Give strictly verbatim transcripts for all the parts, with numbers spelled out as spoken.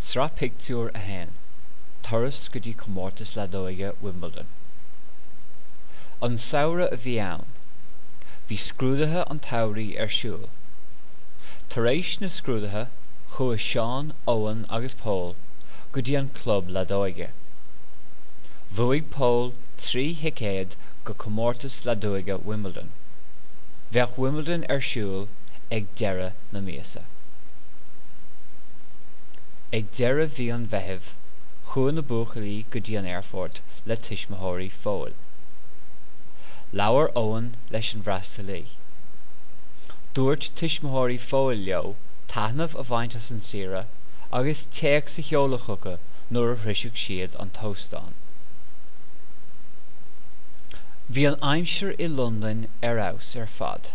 Sraith Pictiúr a haon, Turas go dtí Comórtas Leadóige Wimbledon. An samhradh a bhí ann. Bhí scrúduithe an tsamhraidh ar siúl. Tar éis na scrúduithe, chuaigh Seán, Eoin agus Pól go dtí an club leadóige. Bhuaigh Pól trí thicéad go Comórtas Leadóige Wimbledon. Bheadh Wimbledon ar siúl ag deireadh na míosa. Ag deireadh mhí an Mheithimh, chuaigh na buachaillí go dtí an aerfort le tuismitheoirí Phóil. Labhair Eoin leis an bhfreastalaí. Dúirt tuismitheoirí Phóil leo taitneamh a bhaint as an saoire agus téacs a sheoladh chucu nuair a shroisfeadh siad an t-óstán. Bhí an aimsir i Londain ar fheabhas ar fad.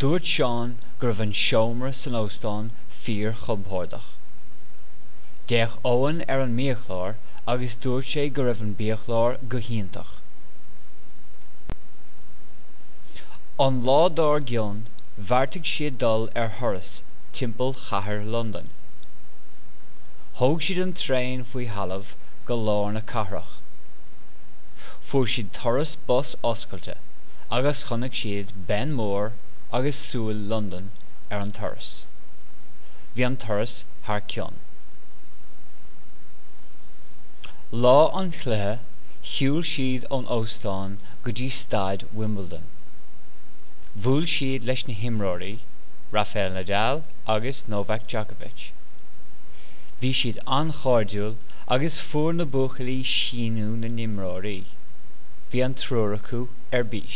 Dúirt Seán go raibh an seomra san óstán fíorchompordach. D'fhéach Eoin ar an mbiachlár agus dúirt sé go raibh an biachlár go hiontach. An lá dár gcionn, bheartaigh siad dul ar thuras timpeall chathair Londain. Thóg siad an traein faoi thalamh go lár na cathrach. Fuair siad turas bus oscailte agus chonaic siad Ben Mór agus Súil Londan ar an turas. Bhí an turas thar cionn. Lá an chluiche, shiúil siad ón óstán go dtí staid Wimbledon. Bhuail siad leis na himreoirí, Rafael Nadal agus Novak Djokovic. Bhí siad an-chairdiúil agus fuair na buachaillí síniú na n-imreoirí. Bhí an triúr acu ar bís.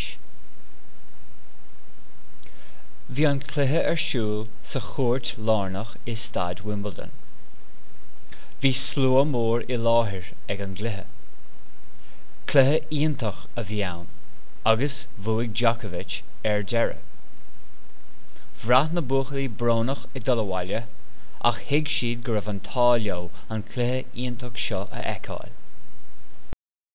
Bhí an cluiche ar siúl sa chúirt lárnach i staid Wimbledon. Bhí slua mór i láthair ag an gcluiche. Cluiche iontach a bhí ann agus bhuaigh Djokovic ar deireadh. Bhraith na buachaillí brónach ag dul abhaile ach thuig siad go raibh an t-ádh leo an cluiche iontach seo a fheiceáil.